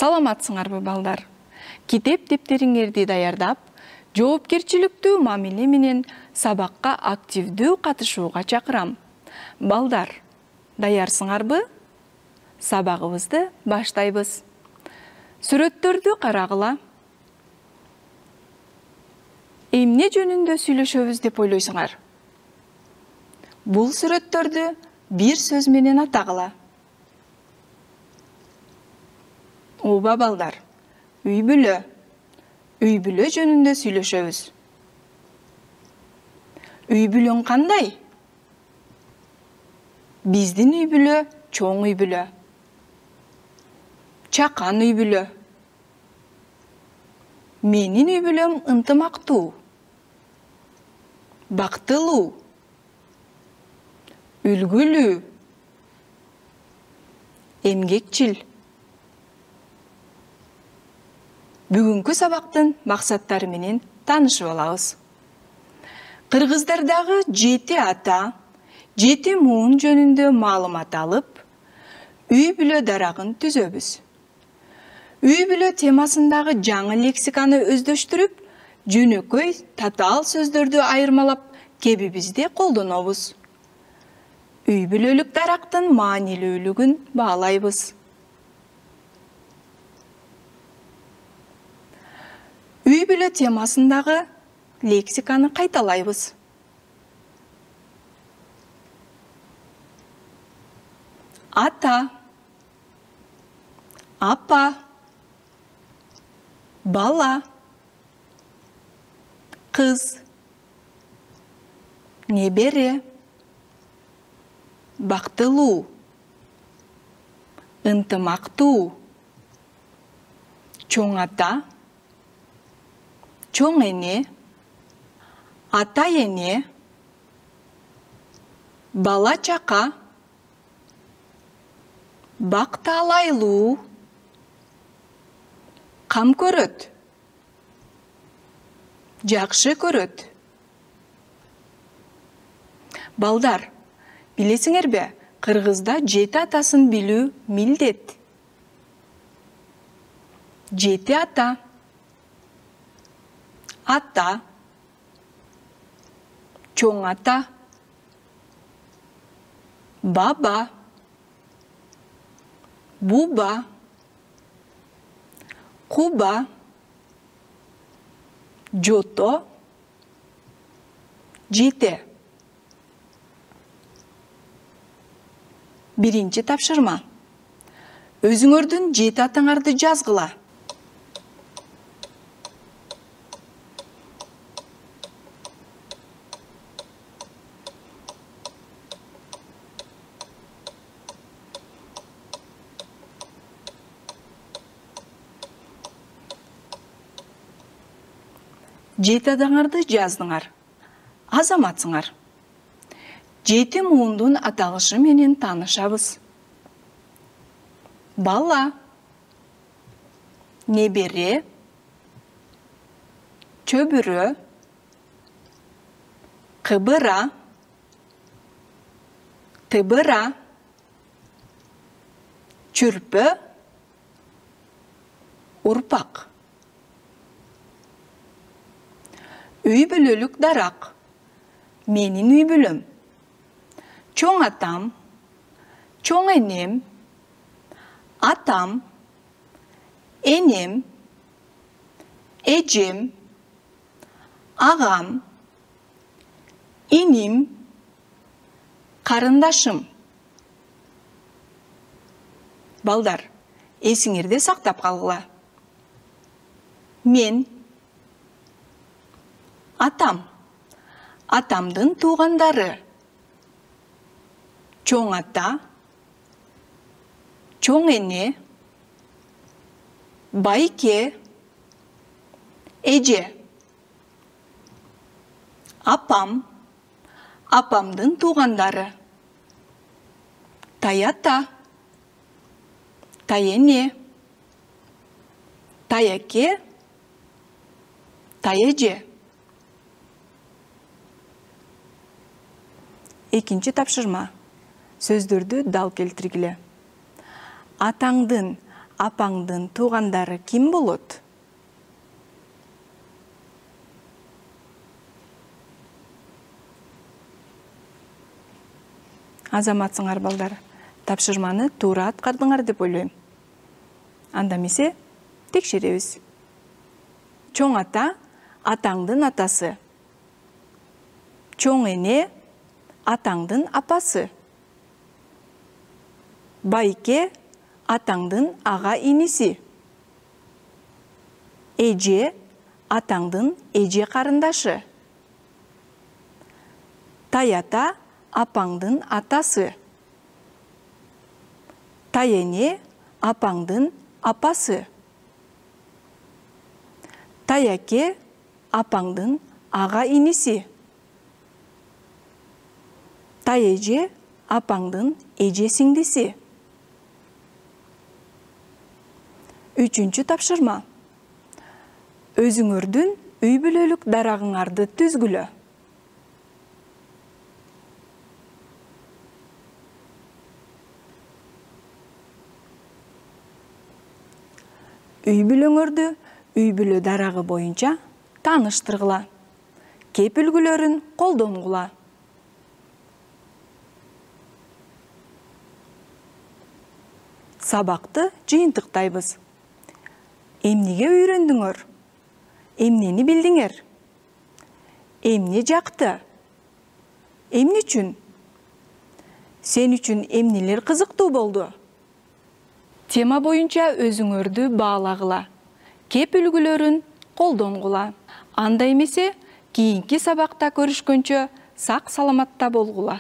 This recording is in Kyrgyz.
Саламатсыңарбы балдар? Китеп дептериңерди даярдап, жоопкерчиликтүү мамиле менен сабакка активдүү катышууга чакырам. Балдар, даярсыңарбы? Сабагыбызды баштайбыз. Сүрөттөрдү карагыла. Эмне жөнүндө сүйлөшөбүз деп ойлойсуңар? Бул сүрөттөрдү бир сөз менен атагыла. Ооба балдар, үй-бүлө. Үй-бүлө жөнүндө сүйлөшөбүз. Үй-бүлөң кандай? Биздин үй-бүлө чоң үй-бүлө. Чакан үй-бүлө. Менин үй-бүлөм ынтымактуу. Бактылуу. Үлгүлүү. Эмгекчил. Бүгүнкү сабактын максаттары менен таанышып алабыз. Кыргыздардагы 7 ата, 7 муун жөнүндө маалымат алып, үй-бүлө дарагын түзөбүз. Үй-бүлө темасындагы жаңы лексиканы өздөштүрүп, жөнөкөй татаал сөздөрдү айырмалап, кебибизде колдонобуз. Үй-бүлөлүк дарактын маанилүүлүгүн баалайбыз. Үй-бүлө темасындагы лексиканы кайталайбыз. Ата, апа, бала, кыз, небере, бактылуу, ынтымактуу, чоң ата, чоң эне, ата эне, бала чака, бакталайлуу, кам көрөт, жакшы көрөт. Балдар, билесиңерби, кыргызда 7 атасын билүү милдет. 7 ата. Ата, чоң ата, баба, буба, куба, жото, жете. Биринчи тапшырма. Өзүңөрдүн 7 атаңарды жазгыла. Жети атаңарды жаздыңар. Азаматсыңар. 7 муундун аталышы менен таанышабыз. Бала, небере, чөбүрө, кыбыра, тыбыра, чүрпө, урпак. Үй-бүлөлүк дарак. Менин үй-бүлөм. Чоң атам, чоң энем, атам, энем, эжем, агам, иним, карындашым. Балдар, эсиңерде сактап калгыла. Мен атам, атамдын туугандары. Чоң ата, чоң эне, байке, эже. Апам, апамдын туугандары. Таята, тайене, таяке, таеже. Экинчи тапшырма. Сөздөрдү дал келтиргиле. Атаңдын Апаңдын туугандары ким болот? Азаматсыңар балдар. Тапшырманы туура аткардыңар деп ойлойм. Анда эмесе текшеребиз. Чоң ата атаңдын атасы. Чоң эне атаңдын апасы. Байке атаңдын ага иниси. Эже атаңдын эже карындашы. Тайата апаңдын атасы. Тайене апаңдын апасы. Таяке апаңдын ага иниси. Таеже апаңдын эже сиңдиси. Үчүнчү тапшырма. Өзүңөрдүн үй бүлөлүк дарагыңарды түзгүлө. Үй бүлөңөрдү үй бүлө дарагы боюнча тааныштыргыла. Кеп үлгүлөрүн колдонгула. Сабакты жыйынтыктайбыз. Эмнеге үйрөндүңөр? Эмнени билдиңер? Эмне жакты? Эмне үчүн? Сен үчүн эмнелер кызыктуу болду? Тема боюнча өзүңөрдү баалагыла. Кеп үлгүлөрүн колдонгула. Анда эмесе, кийинки сабакта көрүшкөнчө сак саламатта болгула.